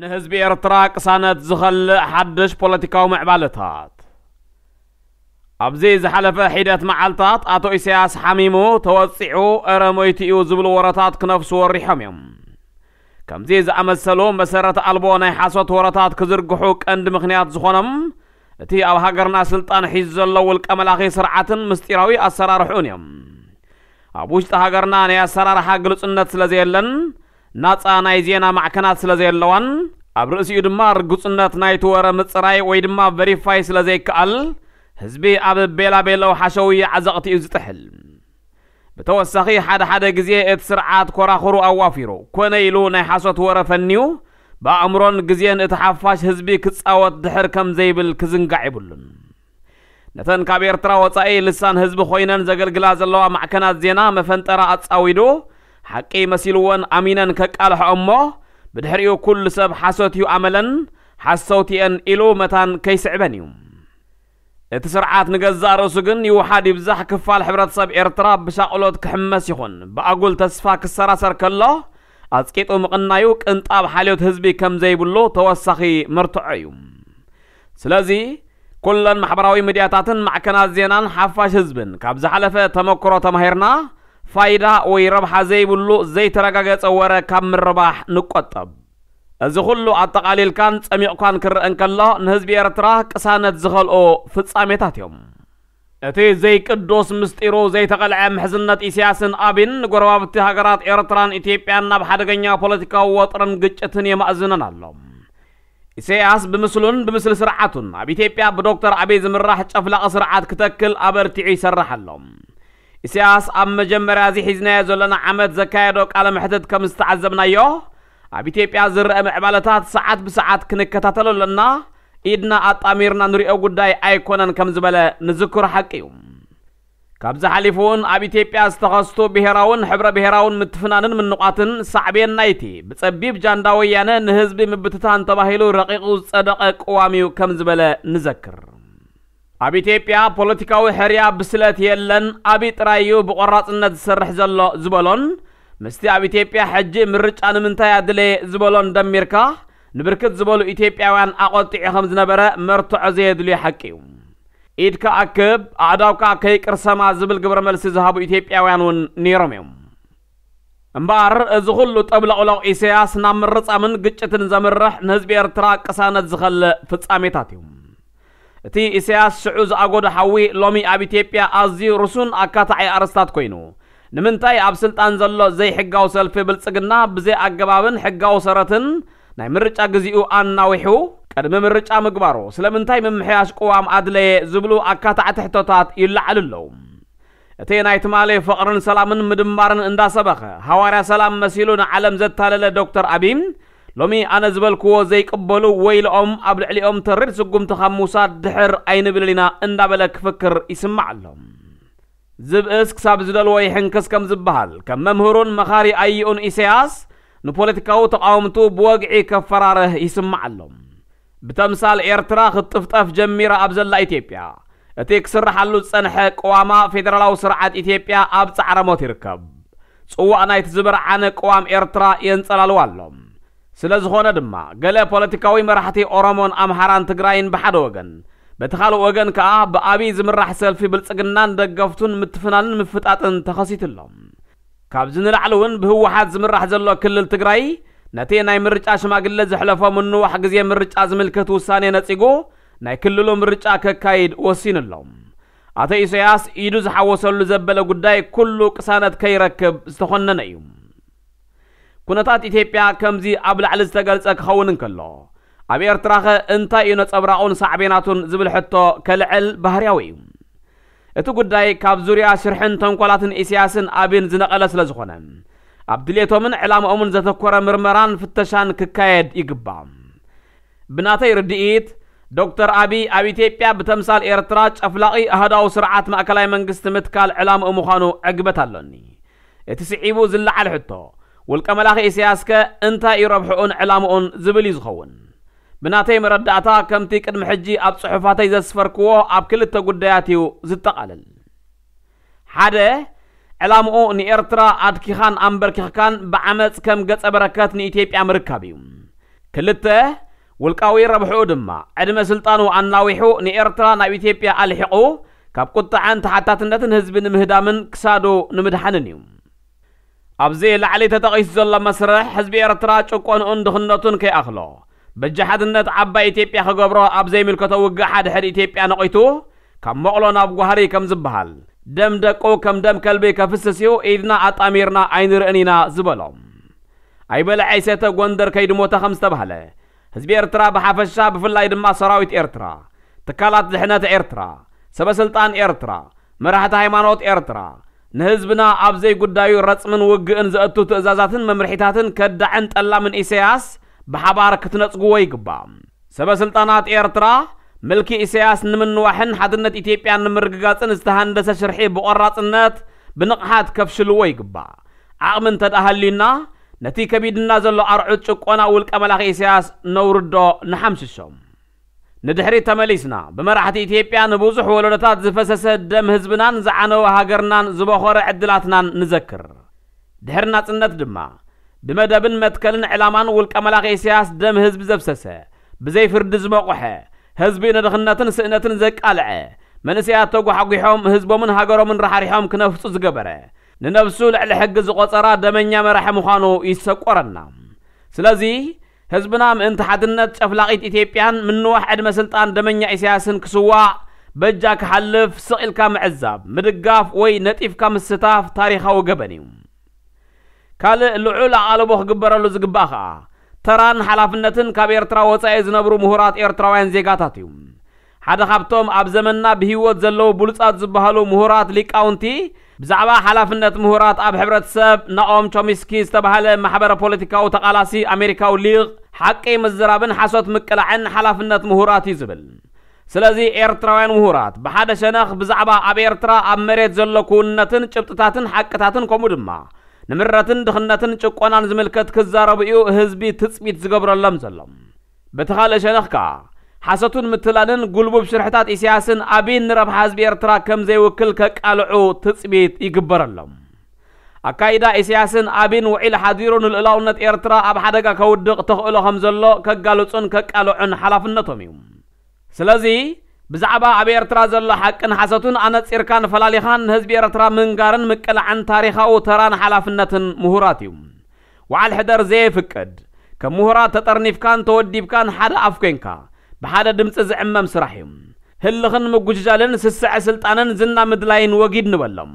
ህዝቢ ኤርትራ ቅሳነት ዝኸልእ ሓድሽ ፖለቲካዊ ምዕባለታት። ኣብዚ ዝሓለፈ ሒደት መዓልታት ኣቶ ኢሳያስ ሓሚሙ ተወጺዑ እረ ሞይቱ እዩ ዝብሉ ወረታት ክነፍሱ ወሪሖም እዮም። ከምዚ ዝኣመሰሉ መሰረት ኣልቦ ናይ ሓሶት ወረታት ክዝርግሑ ቀንዲ ምኽንያት ዝኾኖም እቲ ኣብ ሃገርና ስልጣን ሒዙ ዘሎ ውልቀ መላኺ ስርዓትን ምስጢራዊ ኣሰራርሕኡን እዮም። ኣብ ውሽጢ ሃገርና ናይ ኣሰራርሓ ግልጹነት ስለ ዘየለን፣ ናጻ ናይ ዜና ማዕከናት ስለ ዘየለዋን፣ ኣብ ርእሲኡ ድማ ርግጹነት ናይቲ ወረ ምጽራይ ወይ ድማ ቨሪፋይ ስለ ዘይከኣል፣ ህዝቢ ኣብ ቤላቤሎ ሓሸውየ ዓዘቕቲ እዩ ዝጥሕል። ብተወሳኺ ሓደ ሓደ ግዜ እቲ ስርዓት ኮራኹሩ ኣዋፊሩ፣ ኮነ ኢሉ ናይ ሓሶት ወረ ፈንዩ፣ ብኣእምሮን ግዜን እቲ ሓፋሽ ህዝቢ ክጻወት ድሕር ከም ዘይብል ክዝንጋዕ የብሉን። ነተን ካብ ኤርትራ ወጻኢ ልሳን ህዝቢ ኮይነን ዘገልግላ ዘለዋ ማዕከናት ዜና መፈንጠራ ኣጻዊዱ፣ ሓቂ መሲልወን ኣሚነን ከቃልሖ እሞ፣ ብድሕሪኡ ኩሉ ሰብ ሓሶት እዩ ኣመለን፣ ሓሰውቲ እየን ኢሉ መታን ከይስዕበን እዩ። እቲ ስርዓት ንገዛእ ርእሱ ግን ይውሓድ ይብዛሕ ክፋል ሕብረተሰብ ኤርትራ ብሻቕሎት ክሕመስ ይኹን ብኣጉል ተስፋ ክሰራሰር ከሎ፣ ኣጽቂጡ ምቕናዩ ቅንጣብ ሓልዮት ህዝቢ ከም ዘይብሉ ተወሳኺ መርትዖ እዩ። ስለዚ፣ ኩለን ማሕበራዊ ሚድያታትን ማዕከናት ዜናን ሓፋሽ ህዝብን ካብ ዝሓለፈ ተመክሮ ተማሂርና፣ ፋይዳ ወይ ረብሓ ዘይብሉ ዘይተረጋገጸ ወረ ካብ ምርባሕ ንቆጠብ። እዚ ኩሉ ኣጠቓሊልካን ጸሚቕኳን ክረአ እንከሎ፣ ንህዝቢ ኤርትራ ቅሳነት ዝኸልኦ ፍጻሜታት እዮም። እቲ ዘይቅዱስ ምስጢሩ ዘይተቐልዐ ምሕዝነት ኢሳያስን ኣቢን ንጎረባብቲ ሃገራት ኤርትራን ኢትዮጵያን ናብ ሓደገኛ ፖለቲካዊ ወጥርን ግጭትን የማእዝነን ኣሎ። ኢሳያስ ብምስሉን ብምስሊ ስርዓቱን ኣብ ኢትዮጵያ ብዶክተር ኣቢይ ዝምራሕ ጨፍላቒ ስርዓት ክተክል ኣበርቲዑ ይሰርሕ ኣሎ። ኢሳያስ ኣብ መጀመርያ እዚ ሒዝናዮ ዘለና ዓመት ዘካየዶ ቃለ መሕትት ከም ዝተዓዘብናዮ፣ ኣብ ኢትዮጵያ ዝረአ ምዕባለታት ሰዓት ብሰዓት ክንከታተሎ ኣለና፣ ኢድና ኣጣሚርና ንሪኦ ጉዳይ ኣይኮነን ከም ዝበለ ንዝክሮ ሓቂ እዩ። ካብዚ ሓሊፉ እውን ኣብ ኢትዮጵያ ዝተኸስቱ ብሄራውን ሕብረ ብሄራውን ምትፍናንን ምንቋትን ሳዕቤን ናይቲ ብጸቢብ ጃንዳ ወያነ ንህዝቢ ምብትታን ተባሂሉ ረቂቑ ዝጸደቐ ቅዋም እዩ ከም ዝበለ ንዘክር። ኣብ ኢትዮጵያ ፖለቲካዊ ሕርያ ብስለት የለን፣ ኣቢ ጥራይ እዩ ብቆራጽነት ዝሰርሕ ዘሎ ዝበሎን፣ ምስቲ ኣብ ኢትዮጵያ ሕጂ ምርጫ ንምንታይ ኣድለየ ዝበሎን ደሚርካ፣ ንብርክት ዝበሉ ኢትዮጵያውያን ኣቖጢዑ ከም ዝነበረ መርትዖ ዘየድልዮ ሓቂ እዩ። ኢድካ ኣክብ፣ ኣእዳውካ ከይቅርሰማ ዝብል ግብረ መልሲ ዝሃቡ ኢትዮጵያውያን እውን ነይሮም እዮም። እምበኣር፣ እዚ ኩሉ ጠብለቕሎቕ ኢሳያስ ናብ ምርጻምን ግጭትን ዘምርሕ ንህዝቢ ኤርትራ ቅሳነት ዝኸልእ ፍጻሜታት እዩ። እቲ ኢሳያስ ሽዑ ዝኣጎዶ ሓዊ ሎሚ ኣብ ኢትዮጵያ ኣዝዩ ርሱን ኣካታዒ ኣርእስታት ኮይኑ፣ ንምንታይ ኣብ ስልጣን ዘሎ ዘይሕጋዊ ሰልፊ ብልጽግና ብዘይ ኣገባብን ሕጋዊ ሰረትን ናይ ምርጫ ግዜኡ ኣናዊሑ ቅድሚ ምርጫ ምግባሩ፣ ስለምንታይ ምምሕያሽ ቅዋም ኣድለየ ዝብሉ ኣካታዕቲ ሕቶታት ይለዓሉ ኣለዉ። እቲ ናይ ትማሊ ፍቕርን ሰላምን ምድማርን እንዳሰበኸ፣ ሃዋርያ ሰላም መሲሉ ንዓለም ዘታለለ ዶክተር ኣቢይ፣ ሎሚ ኣነ ዝበልክዎ ዘይቅበሉ ወይልኦም፣ ኣብ ልዕሊኦም ተሪር ስጉምቲ ካብ ምውሳድ ድሕር ኣይንብልን ኢና እንዳበለ ክፍክር ይስማዕ ኣሎ። ዝብእስ ክሳብ ዝደልዎ ይሕንክስ ከም ዝበሃል፣ ከም መምህሩን መኻሪ ኣይኡን ኢሳያስ ንፖለቲካዊ ተቓወምቱ ብወግዒ ከፈራርህ ይስማዕ ኣሎ። ብተምሳል ኤርትራ ክትጥፍጠፍ ጀሚራ ኣብ ዘላ ኢትዮጵያ፣ እቲ ክስርሓሉ ዝጸንሐ ቅዋማ ፌደራላዊ ስርዓት ኢትዮጵያ ኣብ ጻዕረ ሞት ይርከብ። ጽዋእ ናይቲ ዝበርዓነ ቅዋም ኤርትራ የንጸላልዋ ኣሎ። ስለ ዝኾነ ድማ፣ ገለ ፖለቲካዊ መራሕቲ ኦሮሞን ኣምሓራን ትግራይን ብሓደ ወገን፣ በቲ ካልእ ወገን ከኣ ብኣቢይ ዝምራሕ ሰልፊ ብልጽግናን ደገፍቱን ምትፍናንን ምፍጣጥን ተኸሲቱ ኣሎ። ካብዚ ንላዕሊ እውን ብህወሓት ዝምራሕ ዘሎ ክልል ትግራይ ነቲ ናይ ምርጫ ሽማግለ ዘሕለፎ ምንዋሕ ግዜ ምርጫ ዝምልከት ውሳኔ ነጺጉ ናይ ክልሉ ምርጫ ከካይድ ወሲኑ ኣሎ። ኣቶ ኢሳያስ ኢዱ ዝሓወሰሉ ዘበለ ጉዳይ ኩሉ ቅሳነት ከይረክብ ዝተኾነነ እዩ። ኩነታት ኢትዮጵያ ከምዚ ኣብ ላዕሊ ዝተገልጸ ክኸውን እንከሎ፣ ኣብ ኤርትራኸ እንታይ እዩ ነጸብራቑን ሳዕቤናቱን ዝብል ሕቶ ከልዕል ባህርያዊ እዩ። እቲ ጉዳይ ካብ ዙርያ ሽርሕን ተንኮላትን ኢሳያስን ኣቢን ዝነቐለ ስለ ዝኾነ፣ ኣብ ድሌቶምን ዕላምኦምን ዘተኮረ ምርመራን ፍተሻን ክካየድ ይግባእ። ብናተይ ርድኢት፣ ዶክተር ኣቢይ ኣብ ኢትዮጵያ ብተምሳል ኤርትራ ጨፍላቒ ኣህዳዊ ስርዓት ማእከላይ መንግስቲ ምትካል ዕላምኡ ምዃኑ ዕግበት ኣሎኒ። እቲ ስዒቡ ዝለዓል ሕቶ፣ ውልቀ መላኺ ኢሳያስከ እንታይ እዩ ረብሕኡን ዕላምኡን ዝብል እዩ ዝኸውን። ብናተይ መረዳእታ፣ ከምቲ ቅድሚ ሕጂ ኣብ ጽሑፋተይ ዘስፈርክዎ፣ ኣብ ክልተ ጉዳያት እዩ ዝጠቓለል። ሓደ፣ ዕላምኡ ንኤርትራ ኣድኪኻን ኣንበርኪኽካን ብዓመጽ ከም ገጸ በረከት ንኢትዮጵያ ምርካብ እዩ። ክልተ፣ ውልቃዊ ረብሕኡ ድማ ዕድመ ስልጣኑ ኣናዊሑ ንኤርትራ ናብ ኢትዮጵያ ኣልሒቑ ካብ ቁጥዓን ተሓታትነትን ህዝቢ ንምህዳምን ክሳዱ ንምድሓንን እዩ። ኣብዚ ላዕሊ ተጠቒሱ ዘሎ መስርሕ ህዝቢ ኤርትራ ጭቆንኡን ድኽነቱን ከይኣኽሎ በጃ ሓድነት ዓባይ ኢትዮጵያ ክገብሮ ኣብ ዘይምልከቶ ውግእ ሓድሕድ ኢትዮጵያ ነቒቱ ካብ መቕሎ ናብ ጓህሪ ከም ዝበሃል ደም ደቁ ከም ደም ከልቢ ከፍስስ እዩ ኢድና ኣጣሚርና ኣይንርእን ኢና ዝበሎም። ኣይበልዐ ኣይሰተ ጎንደር ከይዱ ሞተ ከም ዝተባህለ ህዝቢ ኤርትራ ብሓፈሻ ብፍላይ ድማ ሰራዊት ኤርትራ ትካላት ድሕነት ኤርትራ ሰበስልጣን ኤርትራ መራሕቲ ሃይማኖት ኤርትራ ንህዝብና ኣብ ዘይጉዳዩ ረጽምን ውግእን ዘእቱ ትእዛዛትን መምርሒታትን ከዳዕን ጠላምን ኢሳያስ ብሓባር ክትነጽግዎ ይግባእ። ሰበስልጣናት ኤርትራ ምልኪ ኢሳያስ ንምንዋሕን ሓድነት ኢትዮጵያን ንምርግጋጽን ዝተሃንደሰ ሽርሒ ብቆራጽነት ብንቕሓት ከፍሽልዎ ይግባእ። ዓቕሚ እንተደኣ ሃልዩና ነቲ ከቢድና ዘሎ ኣርዑት ጭቆና ውልቀ መላኺ ኢሳያስ ነውርዶ ንሓምሽሾም። ንድሕሪት ተመሊስና ብመራሕቲ ኢትዮጵያ ንብዙሕ ወለዶታት ዝፈሰሰ ደም ህዝብናን ዝዓነወ ሃገርናን ዝበኾረ ዕድላትናን ንዘክር። ድሕሪ ናጽነት ድማ ብመደብን መትከልን ዕላማን ውልቀ መላኺ ኢሳያስ ደም ህዝቢ ዘፍሰሰ ብዘይ ፍርዲ ዝመቑሐ ህዝቢ ንድኽነትን ስእነትን ዘቃልዐ መንእሰያት ተጓሕጒሖም ህዝቦምን ሃገሮምን ራሕሪሖም ክነፍጹ ዝገበረ ንነብሱ ልዕሊ ሕጊ ዝቖጸራ ደመኛ መራሒ ምዃኑ ይሰቆረና። ስለዚ ህዝብና ምእንቲ ሓድነት ጨፍላቒት ኢትዮጵያን ምንዋሕ ዕድመ ስልጣን ደመኛ ኢሳያስን ክስዋእ በጃ ክሓልፍ ስቕ ኢልካ ምዕዛብ ምድጋፍ ወይ ነጢፍካ ምስታፍ ታሪኻዊ ገበን እዩ። ካልእ ልዑል ኣቓልቦ ክግበረሉ ዝግባእ ኸኣ ተራን ሓላፍነትን ካብ ኤርትራ ወጻኢ ዝነብሩ ምሁራት ኤርትራውያን ዜጋታት እዩ። ሓደ ካብቶም ኣብ ዘመንና ብህይወት ዘለዉ ብሉጻት ዝበሃሉ ምሁራት ሊቃውንቲ ብዛዕባ ሓላፍነት ምሁራት ኣብ ሕብረተሰብ ናኦም ቾሚስኪ ዝተባህለ ማሕበረ ፖለቲካዊ ተቓላሲ ኣሜሪካዊ ሊቕ ሓቂ ምዝራብን ሓሶት ምቅላዕን ሓላፍነት ምሁራት እዩ ዝብል። ስለዚ ኤርትራውያን ምሁራት ብሓደ ሸነኽ ብዛዕባ ኣብ ኤርትራ ኣብ መሬት ዘሎ ክውንነትን ጭብጥታትን ሓቅታትን ከምኡ ድማ ንምረትን ድኽነትን ጭቆናን ዝምልከት ክዛረቡ እዩ ህዝቢ ትጽቢት ዝገብረሎም ዘሎ። በቲ ካልእ ሸነኽ ከኣ ሓሶትን ምትላልን ጉልቡብ ሽርሕታት ኢሳያስን ኣቢን ንረብሓ ህዝቢ ኤርትራ ከም ዘይውክል ከቃልዑ ትጽቢት ይግበረሎም። ኣካይዳ ኢሳያስን ኣቢን ውዒል ሓዲሩ ንልኡላውነት ኤርትራ ኣብ ሓደጋ ከውድቕ ተኽእሎ ከም ዘሎ ከጋልጹን ከቃልዑን ሓላፍነቶም እዩ። ስለዚ ብዛዕባ ኣብ ኤርትራ ዘሎ ሓቅን ሓሰቱን ኣነጺርካን ፈላሊኻን ንህዝቢ ኤርትራ ምንጋርን ምቅላዕን ታሪኻዊ ተራን ሓላፍነትን ምሁራት እዩ። ወዓል ሕደር ዘየፍቅድ ከም ምሁራት ተጠርኒፍካን ተወዲብካን ሓደ ኣፍ ኮንካ ብሓደ ድምጺ ዝዕመም ስራሕ እዩ። ህልኽን ምጉጅጃልን ስስዐ ስልጣንን ዝና ምድላይን ወጊድ ንበሎም።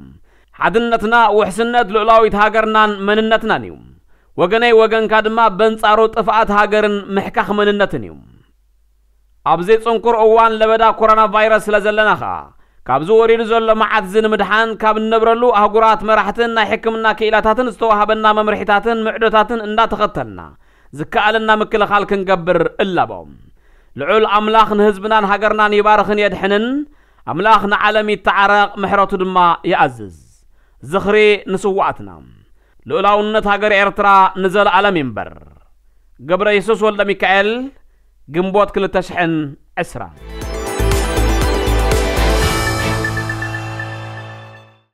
ሓድነትና ውሕስነት ልኡላዊት ሃገርናን መንነትናን እዩ። ወገነይ ወገንካ ድማ በንጻሩ ጥፍኣት ሃገርን ምሕካኽ መንነትን እዩ። ኣብዚ ጽንኩር እዋን ለበዳ ኮሮና ቫይረስ ስለ ዘለና ኸኣ ካብዚ ወሪዱ ዘሎ መዓት እዚ ንምድሓን ካብ እንነብረሉ ኣህጉራት መራሕትን ናይ ሕክምና ክኢላታትን ዝተዋህበና መምርሒታትን ምዕዶታትን እንዳተኸተልና ዝከኣለና ምክልኻል ክንገብር እላቦ። ልዑል ኣምላኽ ንህዝብናን ሃገርናን ይባርኽን የድሕንን። ኣምላኽ ንዓለም ይተዓረቕ ምሕረቱ ድማ ይኣዝዝ። ዝኽሪ ንስዋኣትና። ልኡላውነት ሃገር ኤርትራ ንዘለኣለም ይንበር። ገብረ የሱስ ወልደ ሚካኤል ግንቦት ክልተ ሽሕን ዕስራን።